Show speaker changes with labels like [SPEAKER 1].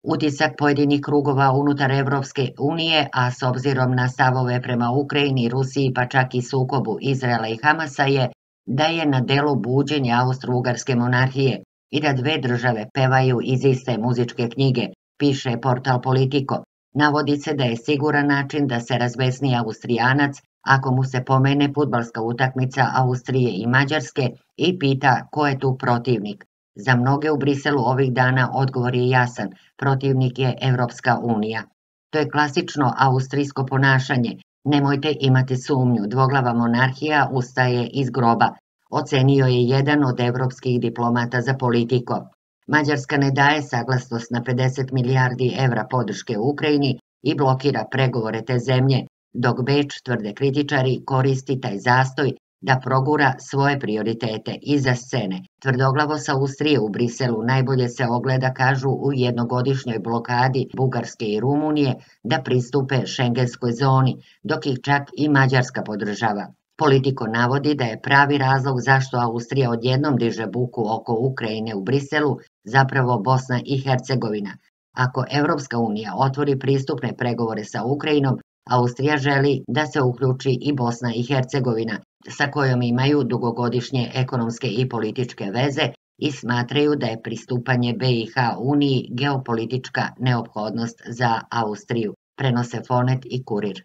[SPEAKER 1] Utisak pojedinih krugova unutar Evropske unije, a s obzirom na stavove prema Ukrajini, Rusiji pa čak i sukobu Izraela i Hamasa je da je na delu buđenje Austro-Ugarske monarhije i da dve države pevaju iz iste muzičke knjige, piše portal Politico. Navodi se da je siguran način da se razbesni Austrijanac ako mu se pomene fudbalska utakmica Austrije i Mađarske i pita ko je tu protivnik. Za mnoge u Briselu ovih dana odgovor je jasan, protivnik je Evropska unija. To je klasično austrijsko ponašanje, nemojte imati sumnju, dvoglava monarhija ustaje iz groba, ocenio je jedan od evropskih diplomata za Politico. Mađarska ne daje saglasnost na 50 milijardi evra podrške Ukrajini i blokira pregovore te zemlje, dok Beč, tvrde kritičari, koristi taj zastoj da progura svoje prioritete iza scene. Tvrdoglavost Austrije u Briselu najbolje se ogleda, kažu, u jednogodišnjoj blokadi Bugarske i Rumunije da pristupe šengenskoj zoni, dok ih čak i Mađarska podržava. Politico navodi da je pravi razlog zašto Austrija odjednom diže buku oko Ukrajine u Briselu zapravo Bosna i Hercegovina. Ako Evropska unija otvori pristupne pregovore sa Ukrajinom, Austrija želi da se uključi i Bosna i Hercegovina, sa kojom imaju dugogodišnje ekonomske i političke veze i smatraju da je pristupanje BiH Uniji geopolitička neophodnost za Austriju, prenose Fonet i Kurir.